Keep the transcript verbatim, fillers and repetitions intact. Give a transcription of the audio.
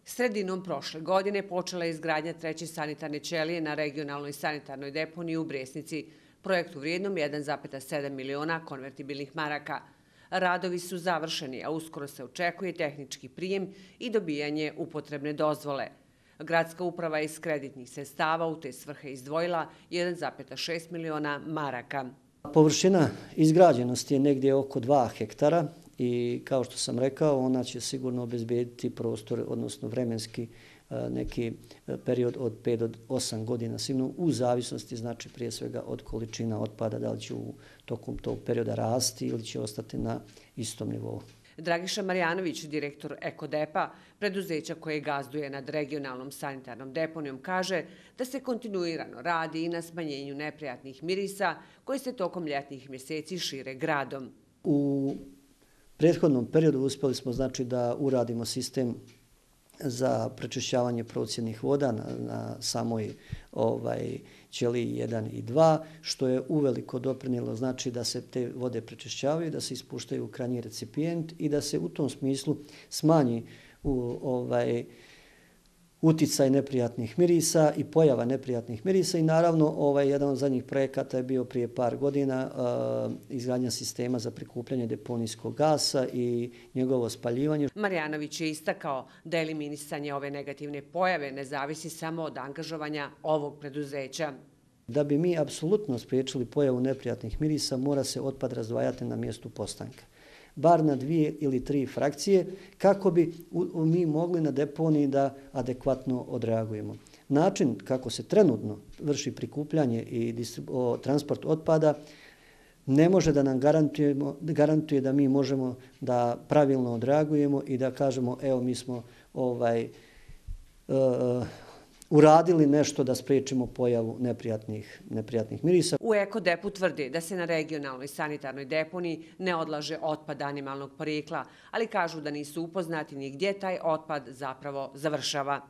Sredinom prošle godine počela je izgradnja treće sanitarne ćelije na regionalnoj sanitarnoj deponiji u Bresnici, projektu vrijednom jedan zarez sedam miliona konvertibilnih maraka. Radovi su završeni, a uskoro se očekuje tehnički prijem i dobijanje upotrebne dozvole. Gradska uprava je iz kreditnih sredstava u te svrhe izdvojila jedan zarez šest miliona maraka. Površina izgrađenosti je negdje oko dva hektara i kao što sam rekao, ona će sigurno obezbijediti prostor, odnosno vremenski neki period od pet do osam godina, sigurno u zavisnosti, znači prije svega od količina otpada, da li će u tokom tog perioda rasti ili će ostati na istom nivou. Dragiša Marjanović, direktor Ekodepa, preduzeća koje gazduje nad regionalnom sanitarnom deponijom, kaže da se kontinuirano radi i na smanjenju neprijatnih mirisa koji se tokom ljetnih mjeseci šire gradom. U prethodnom periodu uspjeli smo znači da uradimo sistem za prečišćavanje procjednih voda na, na samoj ovaj, ćeliji jedan i dva, što je uveliko doprinijelo znači da se te vode prečišćavaju, da se ispuštaju u krajnji recipijent i da se u tom smislu smanji u, ovaj, uticaj neprijatnih mirisa i pojava neprijatnih mirisa i naravno ovaj jedan od zadnjih projekata je bio prije par godina uh, izgradnja sistema za prikupljanje deponijskog gasa i njegovo spaljivanje. Marjanović je istakao da eliminisanje ove negativne pojave ne zavisi samo od angažovanja ovog preduzeća. Da bi mi apsolutno spriječili pojavu neprijatnih mirisa, mora se otpad razdvajati na mjestu postanka, bar na dvije ili tri frakcije, kako bi mi mogli na deponiji da adekvatno odreagujemo. Način kako se trenutno vrši prikupljanje i transport otpada ne može da nam garantuje da mi možemo da pravilno odreagujemo i da kažemo evo mi smo ovaj, uh, uradili nešto da spriječimo pojavu neprijatnih, neprijatnih mirisa. U Ekodepu tvrdi da se na regionalnoj sanitarnoj deponiji ne odlaže otpad animalnog porijekla, ali kažu da nisu upoznati ni gdje taj otpad zapravo završava.